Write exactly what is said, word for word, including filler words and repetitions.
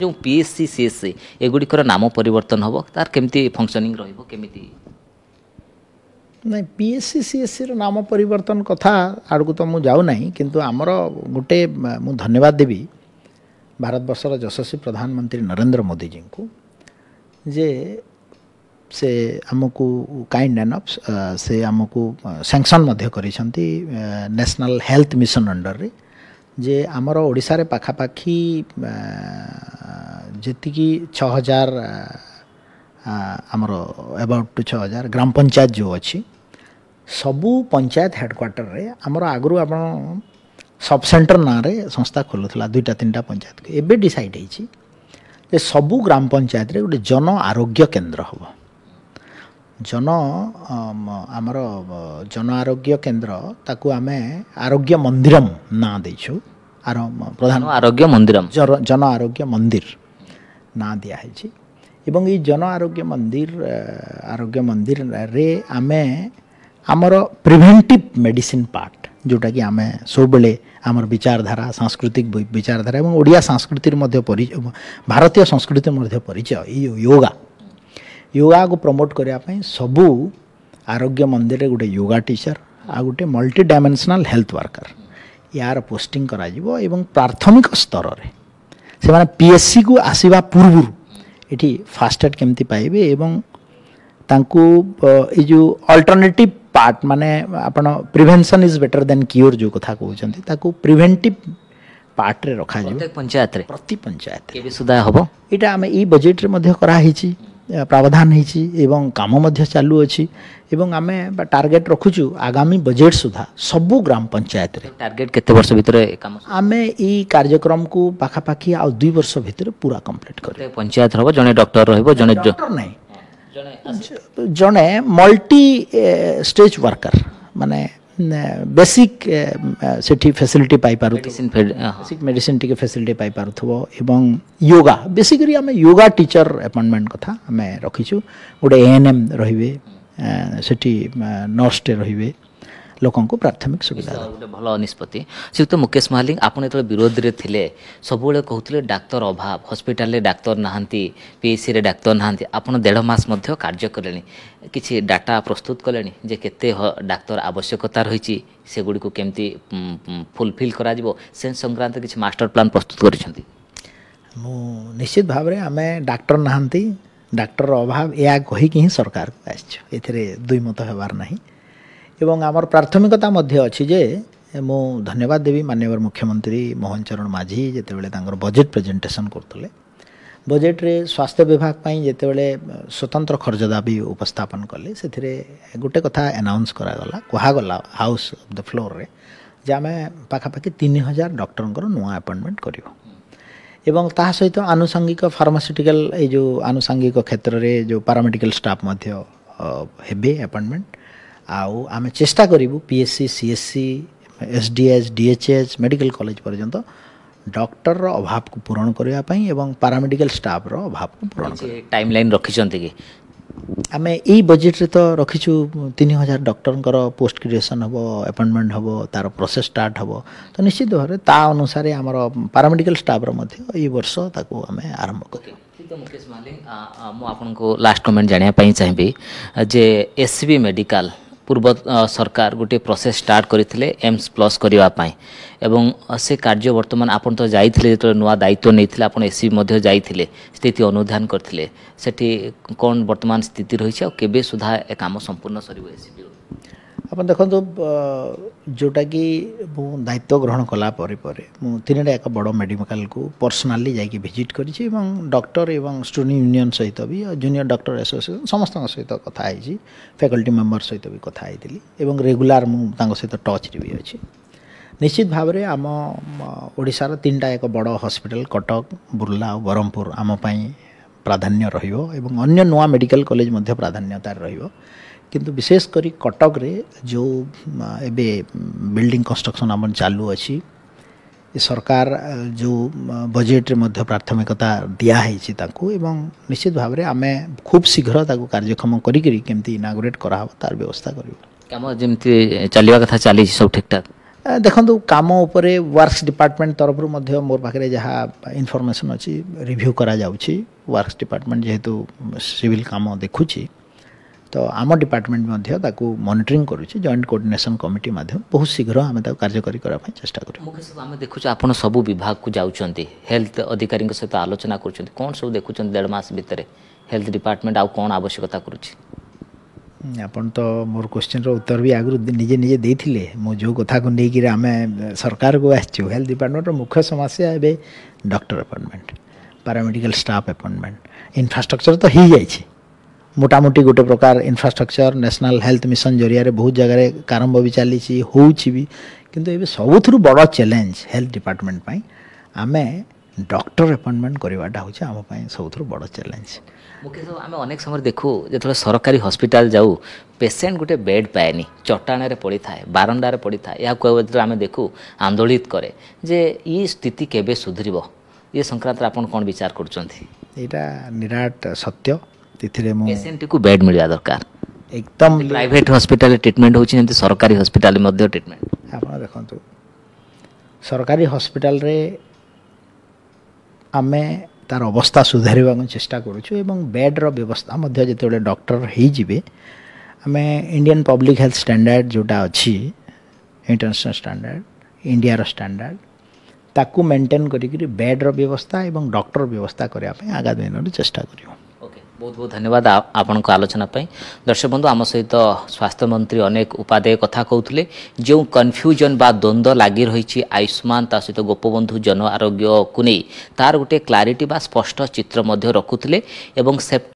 ଯେଉଁ P S C C S C ଏଗୁଡ଼ିକର ନାମ ପରିବର୍ତ୍ତନ ହେବ, ତାର କେମିତି ଫଙ୍କସନିଂ ରହିବ କେମିତି? ନାଇଁ, P S C C S ସିର ନାମ ପରିବର୍ତ୍ତନ କଥା ଆଡ଼କୁ ତ ମୁଁ ଯାଉନାହିଁ, କିନ୍ତୁ ଆମର ଗୋଟେ, ମୁଁ ଧନ୍ୟବାଦ ଦେବି ଭାରତବର୍ଷର ଯଶସ୍ୱୀ ପ୍ରଧାନମନ୍ତ୍ରୀ ନରେନ୍ଦ୍ର ମୋଦିଜୀଙ୍କୁ ଯେ ସେ ଆମକୁ କାଇଣ୍ଡ ଏନଫ୍ ସେ ଆମକୁ ସାଙ୍କସନ୍ ମଧ୍ୟ କରିଛନ୍ତି ନ୍ୟାସନାଲ୍ ହେଲ୍ଥ ମିଶନ ଅଣ୍ଡରରେ ଯେ ଆମର ଓଡ଼ିଶାରେ ପାଖାପାଖି ଯେତିକି ଛଅ ହଜାର, ଆମର ଏବାଉଟ୍ ଟୁ ଛଅ ହଜାର ଗ୍ରାମ ପଞ୍ଚାୟତ ଯେଉଁ ଅଛି, ସବୁ ପଞ୍ଚାୟତ ହେଡ଼କ୍ୱାର୍ଟରରେ ଆମର ଆଗରୁ ଆପଣ ସବ୍ ସେଣ୍ଟର ନାଁରେ ସଂସ୍ଥା ଖୋଲୁଥିଲା ଦୁଇଟା ତିନିଟା ପଞ୍ଚାୟତକୁ। ଏବେ ଡିସାଇଡ଼୍ ହେଇଛି ଯେ ସବୁ ଗ୍ରାମ ପଞ୍ଚାୟତରେ ଗୋଟେ ଜନ ଆରୋଗ୍ୟ କେନ୍ଦ୍ର ହେବ। ଜନ ଆମର ଜନ ଆରୋଗ୍ୟ କେନ୍ଦ୍ର, ତାକୁ ଆମେ ଆରୋଗ୍ୟ ମନ୍ଦିରମ ନାଁ ଦେଇଛୁ। ଆର ପ୍ରଧାନ ଆରୋଗ୍ୟ ମନ୍ଦିରମ, ଜନ ଆରୋଗ୍ୟ ମନ୍ଦିର ନାଁ ଦିଆହେଇଛି। ଏବଂ ଏଇ ଜନ ଆରୋଗ୍ୟ ମନ୍ଦିର, ଆରୋଗ୍ୟ ମନ୍ଦିରରେ ଆମେ ଆମର ପ୍ରିଭେଣ୍ଟିଭ୍ ମେଡ଼ିସିନ୍ ପାର୍ଟ, ଯେଉଁଟାକି ଆମେ ସବୁବେଳେ ଆମର ବିଚାରଧାରା, ସାଂସ୍କୃତିକ ବିଚାରଧାରା ଏବଂ ଓଡ଼ିଆ ସଂସ୍କୃତିର ମଧ୍ୟ ପରିଚୟ, ଭାରତୀୟ ସଂସ୍କୃତିର ମଧ୍ୟ ପରିଚୟ, ଏଇ ୟୋଗା, ୟୋଗାକୁ ପ୍ରମୋଟ୍ କରିବା ପାଇଁ ସବୁ ଆରୋଗ୍ୟ ମନ୍ଦିରରେ ଗୋଟେ ୟୋଗା ଟିଚର ଆଉ ଗୋଟେ ମଲ୍ଟି ଡାଇମେନ୍ସନାଲ୍ ହେଲ୍ଥ ୱାର୍କର ୟାର ପୋଷ୍ଟିଂ କରାଯିବ। ଏବଂ ପ୍ରାଥମିକ ସ୍ତରରେ ସେମାନେ ପି ଏସ୍ ସିକୁ ଆସିବା ପୂର୍ବରୁ ଏଠି ଫାଷ୍ଟ ଏଡ୍ କେମିତି ପାଇବେ ଏବଂ ତାଙ୍କୁ ଏଇ ଯେଉଁ ଅଲ୍ଟରନେଟିଭ୍ ପାର୍ଟ, ମାନେ ଆପଣ prevention is better than cure ଯେଉଁ କଥା କହୁଛନ୍ତି, ତାକୁ ପ୍ରିଭେଣ୍ଟିଭ୍ ପାର୍ଟରେ ରଖାଯିବ ପଞ୍ଚାୟତରେ, ପ୍ରତି ପଞ୍ଚାୟତ। କେବେ ସୁଦ୍ଧା ହେବ ଏଇଟା? ଆମେ ଏଇ ବଜେଟ୍ରେ ମଧ୍ୟ କରାହେଇଛି, ପ୍ରାବଧାନ ହେଇଛି ଏବଂ କାମ ମଧ୍ୟ ଚାଲୁଅଛି। ଏବଂ ଆମେ ଟାର୍ଗେଟ୍ ରଖୁଛୁ ଆଗାମୀ ବଜେଟ୍ ସୁଦ୍ଧା ସବୁ ଗ୍ରାମ ପଞ୍ଚାୟତରେ। ଟାର୍ଗେଟ୍ କେତେ ବର୍ଷ ଭିତରେ କାମ? ଆମେ ଏଇ କାର୍ଯ୍ୟକ୍ରମକୁ ପାଖାପାଖି ଆଉ ଦୁଇ ବର୍ଷ ଭିତରେ ପୁରା କମ୍ପ୍ଲିଟ୍ କରିବୁ। ପଞ୍ଚାୟତ ହେବ, ଜଣେ ଡକ୍ଟର ରହିବ? ଜଣେ ଡକ୍ଟର ନାହିଁ, ଜଣେ ମଲ୍ଟି ଷ୍ଟେଜ୍ ୱାର୍କର, ମାନେ ବେସିକ୍ ସେଠି ଫେସିଲିଟି ପାଇପାରୁଥିବ, ବେସିକ୍ ମେଡ଼ିସିନ୍ ଟିକେ ଫେସିଲିଟି ପାଇପାରୁଥିବ ଏବଂ ୟୋଗା, ବେସିକାଲି ଆମେ ୟୋଗା ଟିଚର ଆପଏଣ୍ଟମେଣ୍ଟ କଥା ଆମେ ରଖିଛୁ। ଗୋଟେ ଏ ଏନ୍ ଏମ୍ ରହିବେ ସେଠି, ନର୍ସଟେ ରହିବେ, ଲୋକଙ୍କୁ ପ୍ରାଥମିକ ସୁବିଧା। ଗୋଟେ ଭଲ ନିଷ୍ପତ୍ତି। ଶ୍ରୀଯୁକ୍ତ ମୁକେଶ ମହାଲିଙ୍ଗ, ଆପଣ ଯେତେବେଳେ ବିରୋଧରେ ଥିଲେ ସବୁବେଳେ କହୁଥିଲେ ଡାକ୍ତର ଅଭାବ, ହସ୍ପିଟାଲରେ ଡାକ୍ତର ନାହାନ୍ତି, ପିଏସ୍ସିରେ ଡାକ୍ତର ନାହାନ୍ତି। ଆପଣ ଦେଢ଼ ମାସ ମଧ୍ୟ କାର୍ଯ୍ୟ କଲେଣି, କିଛି ଡାଟା ପ୍ରସ୍ତୁତ କଲେଣି ଯେ କେତେ ଡାକ୍ତର ଆବଶ୍ୟକତା ରହିଛି, ସେଗୁଡ଼ିକୁ କେମିତି ଫୁଲଫିଲ୍ କରାଯିବ, ସେ ସଂକ୍ରାନ୍ତ କିଛି ମାଷ୍ଟର ପ୍ଲାନ୍ ପ୍ରସ୍ତୁତ କରିଛନ୍ତି? ମୁଁ ନିଶ୍ଚିତ ଭାବରେ, ଆମେ ଡାକ୍ତର ନାହାନ୍ତି, ଡାକ୍ତରର ଅଭାବ ଏହା କହିକି ହିଁ ସରକାରକୁ ଆସିଛୁ, ଏଥିରେ ଦୁଇ ମତ ହେବାର ନାହିଁ। ଏବଂ ଆମର ପ୍ରାଥମିକତା ମଧ୍ୟ ଅଛି ଯେ ମୁଁ ଧନ୍ୟବାଦ ଦେବି ମାନ୍ୟବର ମୁଖ୍ୟମନ୍ତ୍ରୀ ମୋହନ ଚରଣ ମାଝୀ, ଯେତେବେଳେ ତାଙ୍କର ବଜେଟ୍ ପ୍ରେଜେଣ୍ଟେସନ୍ କରୁଥିଲେ, ବଜେଟ୍ରେ ସ୍ୱାସ୍ଥ୍ୟ ବିଭାଗ ପାଇଁ ଯେତେବେଳେ ସ୍ୱତନ୍ତ୍ର ଖର୍ଚ୍ଚ ଦାବି ଉପସ୍ଥାପନ କଲେ, ସେଥିରେ ଗୋଟେ କଥା ଆନାଉନ୍ସ କରାଗଲା, କୁହାଗଲା ହାଉସ୍ ଅଫ୍ the ଫ୍ଲୋରରେ ଯେ ଆମେ ପାଖାପାଖି ତିନି ହଜାର ଡକ୍ଟରଙ୍କର ନୂଆ ଆପଏଣ୍ଟମେଣ୍ଟ କରିବୁ ଏବଂ ତାହା ସହିତ ଆନୁଷଙ୍ଗିକ ଫାର୍ମାସ୍ୟୁଟିକାଲ, ଏଇ ଯେଉଁ ଆନୁଷଙ୍ଗିକ କ୍ଷେତ୍ରରେ ଯେଉଁ ପାରାମେଡ଼ିକାଲ ଷ୍ଟାଫ୍ ମଧ୍ୟ ହେବେ ଆପଏଣ୍ଟମେଣ୍ଟ। ଆଉ ଆମେ ଚେଷ୍ଟା କରିବୁ P S C, C S C, S D H, D H H, medical college ପର୍ଯ୍ୟନ୍ତ ଡକ୍ଟରର ଅଭାବକୁ ପୂରଣ କରିବା ପାଇଁ ଏବଂ ପାରାମେଡ଼ିକାଲ ଷ୍ଟାଫ୍ର ଅଭାବକୁ ପୂରଣ କରିବା। ଟାଇମ୍ ଲାଇନ୍ ରଖିଛନ୍ତି କି? ଆମେ ଏଇ ବଜେଟ୍ରେ ତ ରଖିଛୁ ତିନି ହଜାର ଡକ୍ଟରଙ୍କର ପୋଷ୍ଟ କ୍ରିଏସନ୍ ହେବ, ଆପଏଣ୍ଟମେଣ୍ଟ ହେବ, ତା'ର ପ୍ରୋସେସ୍ ଷ୍ଟାର୍ଟ ହେବ। ତ ନିଶ୍ଚିତ ଭାବରେ ତା ଅନୁସାରେ ଆମର ପାରାମେଡ଼ିକାଲ ଷ୍ଟାଫ୍ର ମଧ୍ୟ ଏଇ ବର୍ଷ ତାକୁ ଆମେ ଆରମ୍ଭ କରିବୁ। ମୁକେଶ ମହାଲିଙ୍ଗ, ମୁଁ ଆପଣଙ୍କୁ ଲାଷ୍ଟ କମେଣ୍ଟ ଜାଣିବା ପାଇଁ ଚାହିଁବି ଯେ ଏସ୍ ସି ବି ମେଡ଼ିକାଲ ପୂର୍ବ ସରକାର ଗୋଟିଏ ପ୍ରୋସେସ୍ ଷ୍ଟାର୍ଟ କରିଥିଲେ ଏମ୍ସ ପ୍ଲସ୍ କରିବା ପାଇଁ ଏବଂ ସେ କାର୍ଯ୍ୟ ବର୍ତ୍ତମାନ, ଆପଣ ତ ଯାଇଥିଲେ ଯେତେବେଳେ ନୂଆ ଦାୟିତ୍ୱ ନେଇଥିଲେ, ଆପଣ ଏସ୍ ସି ବି ମଧ୍ୟ ଯାଇଥିଲେ, ସ୍ଥିତି ଅନୁଧ୍ୟାନ କରିଥିଲେ, ସେଠି କ'ଣ ବର୍ତ୍ତମାନ ସ୍ଥିତି ରହିଛି ଆଉ କେବେ ସୁଦ୍ଧା ଏ କାମ ସମ୍ପୂର୍ଣ୍ଣ ସରିବ ଏସ୍ ସି ବି? ଆପଣ ଦେଖନ୍ତୁ, ଯେଉଁଟାକି ମୁଁ ଦାୟିତ୍ୱ ଗ୍ରହଣ କଲା ପରେ ପରେ ମୁଁ ତିନିଟା ଏକ ବଡ଼ ମେଡ଼ିକାଲକୁ ପର୍ସନାଲି ଯାଇକି ଭିଜିଟ୍ କରିଛି ଏବଂ ଡକ୍ଟର ଏବଂ ଷ୍ଟୁଡେଣ୍ଟ ୟୁନିୟନ୍ ସହିତ ବି, ଜୁନିୟର ଡକ୍ଟର ଆସୋସିଏସନ୍ ସମସ୍ତଙ୍କ ସହିତ କଥା ହେଇଛି, ଫ୍ୟାକଲ୍ଟି ମେମ୍ବର ସହିତ ବି କଥା ହେଇଥିଲି ଏବଂ ରେଗୁଲାର ମୁଁ ତାଙ୍କ ସହିତ ଟଚ୍ରେ ବି ଅଛି। ନିଶ୍ଚିତ ଭାବରେ ଆମ ଓଡ଼ିଶାର ତିନିଟା ଏକ ବଡ଼ ହସ୍ପିଟାଲ କଟକ, ବୁର୍ଲା ଆଉ ବ୍ରହ୍ମପୁର ଆମ ପାଇଁ ପ୍ରାଧାନ୍ୟ ରହିବ ଏବଂ ଅନ୍ୟ ନୂଆ ମେଡ଼ିକାଲ କଲେଜ ମଧ୍ୟ ପ୍ରାଧାନ୍ୟତାରେ ରହିବ। କିନ୍ତୁ ବିଶେଷ କରି କଟକରେ ଯେଉଁ ଏବେ ବିଲ୍ଡିଂ କନଷ୍ଟ୍ରକ୍ସନ୍ ଆମର ଚାଲୁଅଛି, ଏ ସରକାର ଯେଉଁ ବଜେଟ୍ରେ ମଧ୍ୟ ପ୍ରାଥମିକତା ଦିଆହେଇଛି ତାକୁ ଏବଂ ନିଶ୍ଚିତ ଭାବରେ ଆମେ ଖୁବ୍ ଶୀଘ୍ର ତାକୁ କାର୍ଯ୍ୟକ୍ଷମ କରିକିରି କେମିତି ଇନାଗୁରେଟ୍ କରାହେବ ତାର ବ୍ୟବସ୍ଥା କରିବୁ। କାମ ଯେମିତି ଚାଲିବା କଥା ଚାଲିଛି, ସବୁ ଠିକ୍ଠାକ୍? ଦେଖନ୍ତୁ କାମ ଉପରେ ୱାର୍କସ୍ ଡିପାର୍ଟମେଣ୍ଟ ତରଫରୁ ମଧ୍ୟ ମୋର ପାଖରେ ଯାହା ଇନଫର୍ମେସନ୍ ଅଛି ରିଭ୍ୟୁ କରାଯାଉଛି ୱାର୍କସ୍ ଡିପାର୍ଟମେଣ୍ଟ ଯେହେତୁ ସିଭିଲ୍ କାମ ଦେଖୁଛି ତ ଆମ ଡିପାର୍ଟମେଣ୍ଟ ମଧ୍ୟ ତାକୁ ମନିଟରିଂ କରୁଛି ଜଏଣ୍ଟ କୋଅର୍ଡିନେସନ୍ କମିଟି ମାଧ୍ୟମରେ ବହୁତ ଶୀଘ୍ର ଆମେ ତାକୁ କାର୍ଯ୍ୟକାରୀ କରିବା ପାଇଁ ଚେଷ୍ଟା କରିବୁ ମୁଖ୍ୟ ସଚିବ ଆମେ ଦେଖୁଛୁ ଆପଣ ସବୁ ବିଭାଗକୁ ଯାଉଛନ୍ତି ହେଲ୍ଥ ଅଧିକାରୀଙ୍କ ସହିତ ଆଲୋଚନା କରୁଛନ୍ତି କ'ଣ ସବୁ ଦେଖୁଛନ୍ତି ଦେଢ଼ ମାସ ଭିତରେ ହେଲ୍ଥ ଡିପାର୍ଟମେଣ୍ଟ ଆଉ କ'ଣ ଆବଶ୍ୟକତା କରୁଛି ଆପଣ ତ ମୋର କ୍ୱେଶ୍ଚିନ୍ର ଉତ୍ତର ବି ଆଗରୁ ନିଜେ ନିଜେ ଦେଇଥିଲେ ମୁଁ ଯେଉଁ କଥାକୁ ନେଇକିରି ଆମେ ସରକାରକୁ ଆସିଛୁ ହେଲ୍ଥ ଡିପାର୍ଟମେଣ୍ଟର ମୁଖ୍ୟ ସମସ୍ୟା ଏବେ doctor appointment paramedical staff appointment infrastructure ତ ହେଇଯାଇଛି ମୋଟାମୋଟି ଗୋଟେ ପ୍ରକାର ଇନଫ୍ରାଷ୍ଟ୍ରକ୍ଚର ନ୍ୟାସନାଲ୍ ହେଲ୍ଥ ମିଶନ ଜରିଆରେ ବହୁତ ଜାଗାରେ ଆରମ୍ଭ ବି ଚାଲିଛି ହେଉଛି ବି କିନ୍ତୁ ଏବେ ସବୁଥିରୁ ବଡ଼ ଚ୍ୟାଲେଞ୍ଜ ହେଲ୍ଥ ଡିପାର୍ଟମେଣ୍ଟ ପାଇଁ ଆମେ ଡକ୍ଟର ଆପଏଣ୍ଟମେଣ୍ଟ କରିବାଟା ହେଉଛି ଆମ ପାଇଁ ସବୁଥିରୁ ବଡ଼ ଚ୍ୟାଲେଞ୍ଜ ମୁଖ୍ୟ ସଚିବ ଆମେ ଅନେକ ସମୟରେ ଦେଖୁ ଯେତେବେଳେ ସରକାରୀ ହସ୍ପିଟାଲ ଯାଉ ପେସେଣ୍ଟ ଗୋଟେ ବେଡ୍ ପାଏନି ଚଟାଣରେ ପଡ଼ିଥାଏ ବାରଣ୍ଡାରେ ପଡ଼ିଥାଏ ଏହାକୁ ଯେତେବେଳେ ଆମେ ଦେଖୁ ଆନ୍ଦୋଳିତ କରେ ଯେ ଇଏ ସ୍ଥିତି କେବେ ସୁଧୁରିବ ଏ ସଂକ୍ରାନ୍ତରେ ଆପଣ କ'ଣ ବିଚାର କରୁଛନ୍ତି ଏଇଟା ନିରାଟ ସତ୍ୟ ଏଥିରେ ମୁଁ ପେସେଣ୍ଟକୁ ବେଡ୍ ମିଳିବା ଦରକାର ଏକଦମ ପ୍ରାଇଭେଟ୍ ହସ୍ପିଟାଲରେ ଟ୍ରିଟମେଣ୍ଟ ହେଉଛି ଯେମିତି ସରକାରୀ ହସ୍ପିଟାଲରେ ମଧ୍ୟ ଟ୍ରିଟମେଣ୍ଟ ଆପଣ ଦେଖନ୍ତୁ ସରକାରୀ ହସ୍ପିଟାଲରେ ଆମେ ତାର ଅବସ୍ଥା ସୁଧାରିବାକୁ ଚେଷ୍ଟା କରୁଛୁ ଏବଂ ବେଡ଼୍ର ବ୍ୟବସ୍ଥା ମଧ୍ୟ ଯେତେବେଳେ ଡକ୍ଟର ହେଇଯିବେ ଆମେ ଇଣ୍ଡିଆନ୍ ପବ୍ଲିକ୍ ହେଲ୍ଥ ଷ୍ଟାଣ୍ଡାର୍ଡ଼ ଯେଉଁଟା ଅଛି ଇଣ୍ଟରନ୍ୟାସନାଲ୍ ଷ୍ଟାଣ୍ଡାର୍ଡ଼ ଇଣ୍ଡିଆର ଷ୍ଟାଣ୍ଡାର୍ଡ଼ ତାକୁ ମେଣ୍ଟେନ୍ କରିକିରି ବେଡ଼୍ର ବ୍ୟବସ୍ଥା ଏବଂ ଡକ୍ଟର ବ୍ୟବସ୍ଥା କରିବା ପାଇଁ ଆଗାମୀ ଦିନରେ ଚେଷ୍ଟା କରିବୁ ଓକେ ବହୁତ ବହୁତ ଧନ୍ୟବାଦ ଆପଣଙ୍କ ଆଲୋଚନା ପାଇଁ ଦର୍ଶକ ବନ୍ଧୁ ଆମ ସହିତ ସ୍ୱାସ୍ଥ୍ୟମନ୍ତ୍ରୀ ଅନେକ ଉପାଦେୟ କଥା କହୁଥିଲେ ଯେଉଁ କନଫ୍ୟୁଜନ୍ ବା ଦ୍ୱନ୍ଦ୍ୱ ଲାଗି ରହିଛି ଆୟୁଷ୍ମାନ ତା ସହିତ ଗୋପବନ୍ଧୁ ଜନ ଆରୋଗ୍ୟକୁ ନେଇ ତାର ଗୋଟିଏ କ୍ଲାରିଟି ବା ସ୍ପଷ୍ଟ ଚିତ୍ର ମଧ୍ୟ ରଖୁଥିଲେ ଏବଂ ସେପ୍ଟେମ୍ବର